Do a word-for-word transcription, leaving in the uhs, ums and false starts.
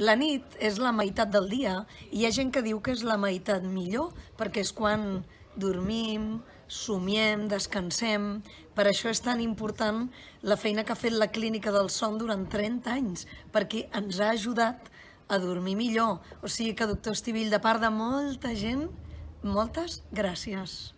La nit és la meitat del dia i hi ha gent que diu que és la meitat millor perquè és quan dormim, somiem, descansem. Per això és tan important la feina que ha fet la Clínica del Son durant trenta anys, perquè ens ha ajudat a dormir millor. O sigui que, doctor Estivill, de part de molta gent, moltes gràcies.